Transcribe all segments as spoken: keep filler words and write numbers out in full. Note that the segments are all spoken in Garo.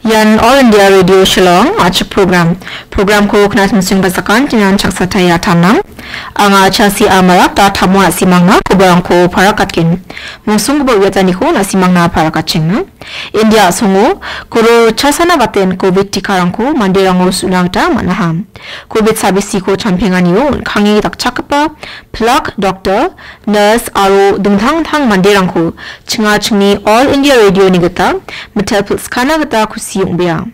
Ian All India Radio Shillong, a·chik program. Programko knatmsing basakan tinan chaksatai atamnang. Anga Chasi Amarak da tamo a·simangna kobarangko parakatgen. Mungsonggipa uiataniko na·simangna parakatchengna. India a·songo koro chasana baten covid tikarangko manderango su·na gita man·aha. Covid sabisiko champenganio on·kange dakchakgipa pilak, doktor, nurse aro dingtang dingtang manderangko chinga chingni All India Radio-ni gita mitel pilskana gita kusi ong·bea.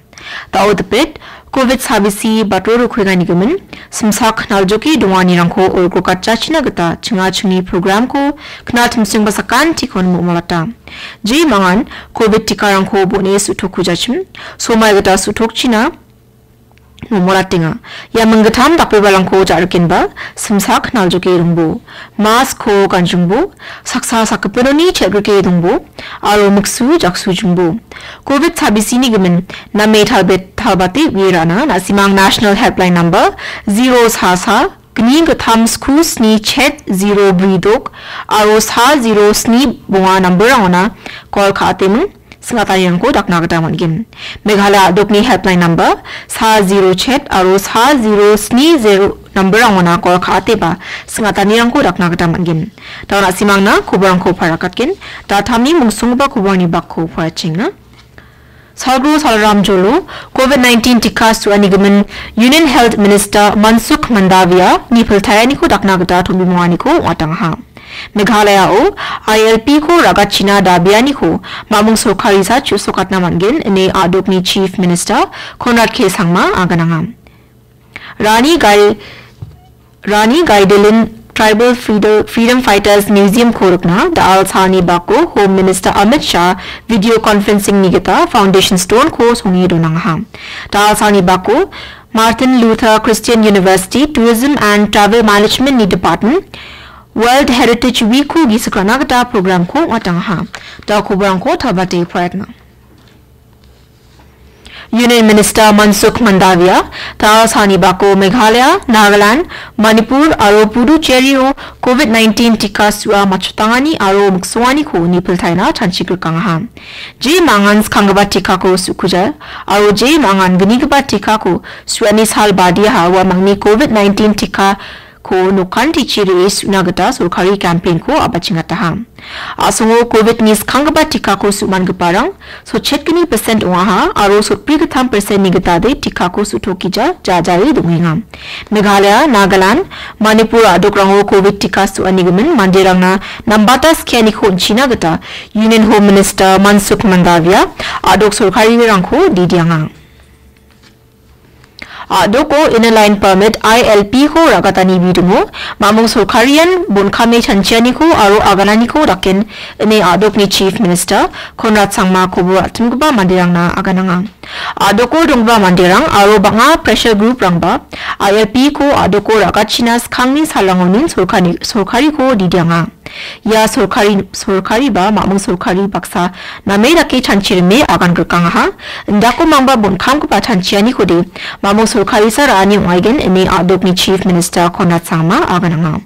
Da·o dipet, covid sabisi batro rokuengani gimin, simsak naljoke donganirangko olgrokatjachina gita chinga chingni programko knatmsing basakantikon mo·molata. Jemangan covid tikarangko bon·e su·tokujachim, somai gita su·tokchina mo·molatenga. Ia minggittam dakbebalangko ja·rikenba, simsak naljoke dongbo, mask-ko ganjingbo, saksa sakgipinoni chel·grike dongbo, aro miksu jaksujingbo. Covid sabisini gimin name talbet-, talbate uie ra·na, na·simang National Helpline Number zero sa sa gni gittam sku sni chet zero bri dok aro sa zero sni bonga number-rangona call ka·ateming sing·atanirangko dakna gita man·gen. Meghalaya a·dokni helpline number sa zero chet aro sa zero sni zero number-rangona call ka·ateba sing·atanirangko dakna gita man·gen. Da·o na·simangna koborangko parakatgen. Da·tamni mungsonggipa koborangni bakko parachengna. Salgro Salram Jolo, covid nineteen tika su·ani gimin Union Health Minister Mansukh Mandavia ni piltaianiko dakna gita tombimonganiko ong·atangaha. Meghalaya-o I L P-ko ra·gachina dabianiko mamung sorkarisa chu·sokatna man·gen ine a·dokni Chief Minister Conrad K Sangma agananga. Rani Gai-, Rani Gaidilin Tribal Freedom, Freedom Fighters Museum-ko rikna da·al salni bako Home Minister Amit Shah video conferencing-ni gita foundation stone-ko songe donangaha. Da·al salni bako Martin Luther Christian University Tourism and Travel Management-ni Department World Heritage Week-ko gisik ra·na gita program-ko ong·atangaha. Da·o koborangko talbate parakatna. Union Minister Mansukh Mandavia, da·al salni bako Meghalaya, Nagaland, Manipur aro Puducherry-o covid nineteen tika su·a matchotangani aro miksonganiko nipiltaina chanchigrikangaha. Jemangan skanggipa tikako su·kuja aro jemangan gnigipa tikako su·ani sal badiaha uamangni covid nineteen tika ko nokantichi re·e su·na gita sorkari campaign-ko a·bachengataha. A·songo covid-ni skanggipa tikako su·mangiparang sotchetgni percent ong·aha aro sotbrigittam percent-ni gitade tikako su·tokija jajae dongenga. Meghalaya, Nagaland, Manipur a·dokrango covid tika su·ani gimin manderangna nambata skianiko on·china gita Union Home Minister Mansukh Mandavia a·dok sorkarirangko didianga. A·doko Inner Line Permit, I L P-ko ra·gatani bidingo, mamung sorkarian bon·kame chanchianiko aro agananiko daken ine a·dokni Chief Minister Conrad Sangma kobor a·timgipa manderangna agananga. A·doko donggipa manderang aro bang·a pressure group-rangba I L P-ko a·doko ra·gachina skangni salrangonin sorkani-, sorkariko didianga. Ia sorkari, sorkariba mamung sorkari baksa name dake chanchirime agan grikangaha. Indako mangba bon·kamgipa chanchianikode mamung sorkarisa ra·ani ong·aigen ine a·dokni Chief Minister Conrad Sangma agananga.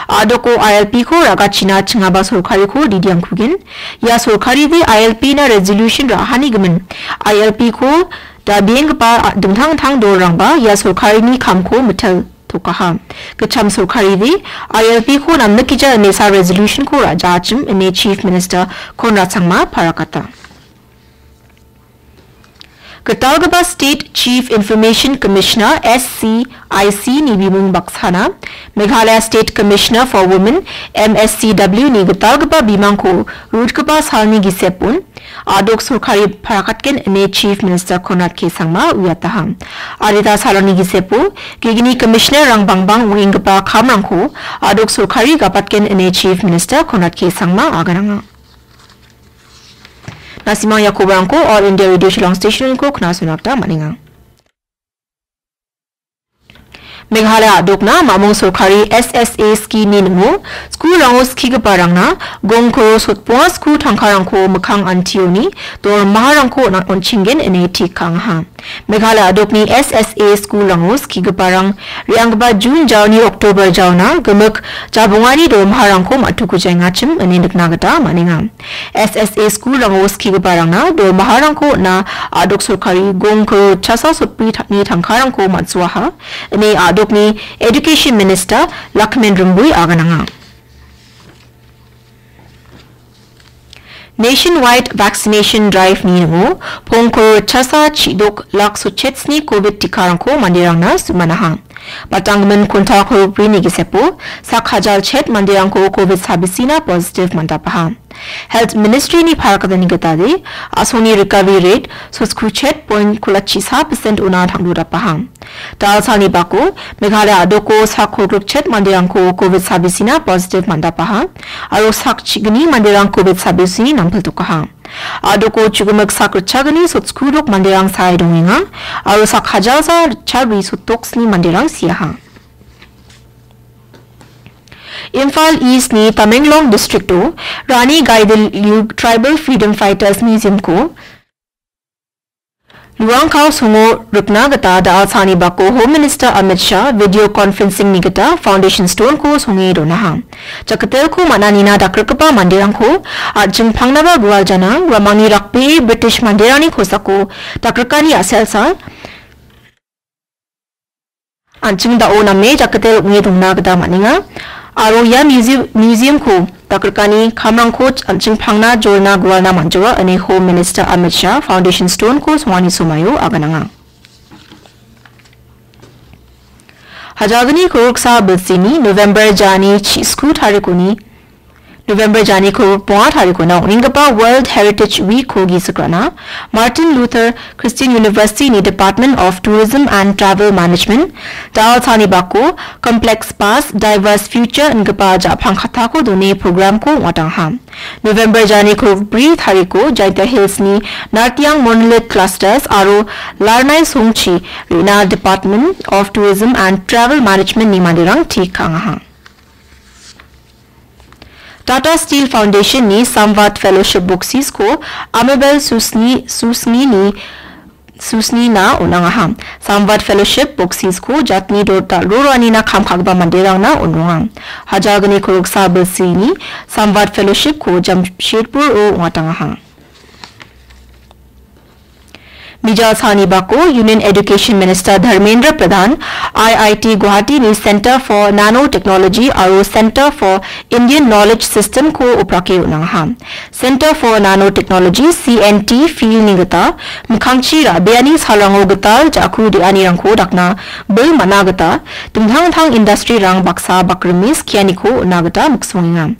A·doko I L P-ko ra·gachina chingaba sorkariko didiangkugen. Ia sorkaride I L P-na resolution ra·hani gimin I L P-ko dabienggipa a-, dingtang dingtang dolrangba ia sorkarini kamko mitel tokaha. Gitcham sorkaride I L P-ko namnikija inesa resolution-ko ra·jachim ine Chief Minister Conrad Sangma parakata. Gitalgipa State Chief Information Commissioner, S C I C-ni bimung baksana Meghalaya State Commissioner for Women, M S C W-ni gitalgipa bimangko rutgipa salni gisepon a·dok sorkari parakatgen ine Chief Minister Conrad K Sangma uiataha. Adita saloni gisepo gegni commissioner-rang bangbang ong·enggipa kamrangko a·dok sorkari gapatgen ine Chief Minister Conrad K Sangma agananga. Na·simang ia kobarangko All India Radio Shillong Station-ko knasona gita man·enga. Meghalaya a·dokna mamung sorkari S S A scheme-ni ningo skulrango skigiparangna gong koro sotbonga sku tangkarangko mikkang antioni dormaharangko on-, on·chinggen ine tik ka·angaha. Meghalaya a·dokni S S A skulrango skigiparang re·anggipa Jun jaoni Oktober jaona gimik jabongani dormaharangko ma·tukujaengachim ine nikna gita man·enga. S S A skulrango skigiparangna dormaharangko on·a a·dok sorkari gong koro chasa sotbri ta-, ni tangkarangko man·soaha, ine a·dokni Education Minister Lakhmen Rymbui agananga. Nationwide Vaccination Drive-ni ningo pong koro chasa chidok lak sochetsni Covid tikarangko manderangna su·manaha. Batanggimin konta koro brini gisepo sak hajal chet manderangko Covid sabisina positive man·dapaha. Health Ministry-ni parakatani gitade, a·songni recovery rate sotskru chet point kolachisa percent ona tangdo dapaha. Dalsalni bako, Meghalaya a·doko sak kolgrikchet manderangko Covid sabisina positive man·dapaha, aro sak chigni manderang Covid sabisini nangpiltokaha. A·doko chugimik sak ritchagni sotskrudok manderang sae dongenga, aro sak hajalsa ritchabri sotdoksni manderang siaha. Imphal East-ni Tamenglong District-o Rani Gaidinliu Tribal Freedom Fighters Museum-ko Luangkao songo rikna gita da·alsani bako Home Minister Amit Shah video conferencing-ni gita foundation stone-ko songe donaha. Jakitelko man·anina dakrikgipa manderangko an·ching pangnaba gualjana uamangni rakbee British manderangni kosako dakrikani a·selsa an·ching da·o name jakitel ong·e dongna gita man·enga. Aro ia museum, museum-ko dakrikani kamrangko an·ching pangna jolna gualna man·joa ine Home Minister Amit Shah foundation stone-ko songani somaio agananga. Hajalgni koroksa bilsini November jani chisku tarikoni November jani koro bonga tarikona ong·enggipa World Heritage Week-ko gisik ra·na, Martin Luther Christian University-ni Department of Tourism and Travel Management, da·alsani bako Complex Past, Diverse Future ingipa ja·pang kattako done program-ko ong·atangaha. November jani koro bri tariko Jaintia Hills-ni Nartiang Monolith Clusters aro Larnai Songchi re·na Department of Tourism and Travel Management-ni manderang tik ka·angaha. Tata Steel Foundation-ni Samvad Fellowship boksisko Amabel Susni, Susnini, Susnina on·angaha. Samvad Fellowship boksisko jatni dota roroanina kam ka·gipa manderangna on·ronga. Hajalgni koroksa bilsini Samvad Fellowship-ko Jamshedpur-o ong·atangaha. Mijalsani bako Union Education Minister Dharmendra Pradhan, I I T Guwahati-ni Centre for Nanotechnology aro Centre for Indian Knowledge System-ko oprake on·angaha. Centre for Nanotechnology, C N T, field-ni gita mikkangchi ra·beani salrango gital ja·ku de·anirangko dakna bil man·a gita dingtang-dingtang industry-rang baksa bakrime skianiko on·a gita miksongenga.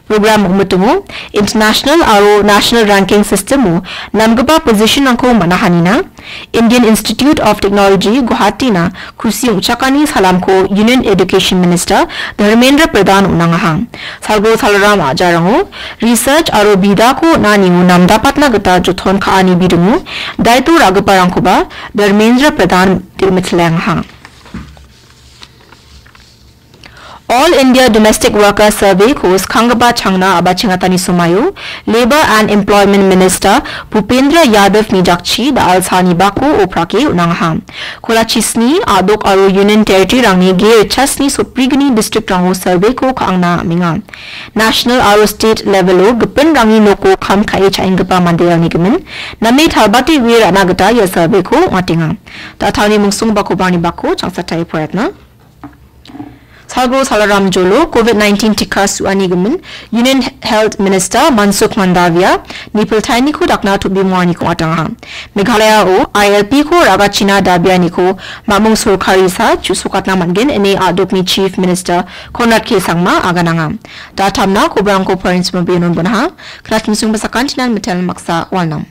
Program ong·mitingo international aro national ranking system-o namgipa position-rangko man·ahanina Indian Institute of Technology Guwahati-na kusi ong·chakani salamko Union Education Minister Dharmendra Pradhan on·angaha. Salgo salram a·jarango research aro bidako on·anio namdapatna gita joton ka·ani bidingo daito ra·giparangkoba Dharmendra Pradhan de·mitlengaha. All India Domestic Worker Survey-ko skanggipa changna a·bachengatani somaio Labour and Employment Minister Bhupendra Yadav-ni jakchi da·alsani bako oprake on·angaha. Kolachisni a·dok aro Union Territory-rangni ge richasni sotbrigni district-rango survey-ko ka·angna am·enga. National aro state level-o gipinrangni noko kam ka·e cha·enggipa manderangni gimin name talbate ue ra·na gita ia survey-ko ong·atenga. Da·tangni mungsongbakoba ani bako changsatai poretna. Salgro Salaram Jolo Covid nineteen tika su·ani gimin Union Health Minister Mansukh Mandaviya nipiltainiko dakna tobimonganiko ong·atangaha. Meghalaya-o I L P-ko ra·gachina dabianiko mamung sorkarisa chu·sokatna man·gen ine a·dokni Chief Minister Conrad K Sangma agananga. Da·tamna kobrangko points mabianon bonaha. Knachingsung basakantinan mitel maksa walnam.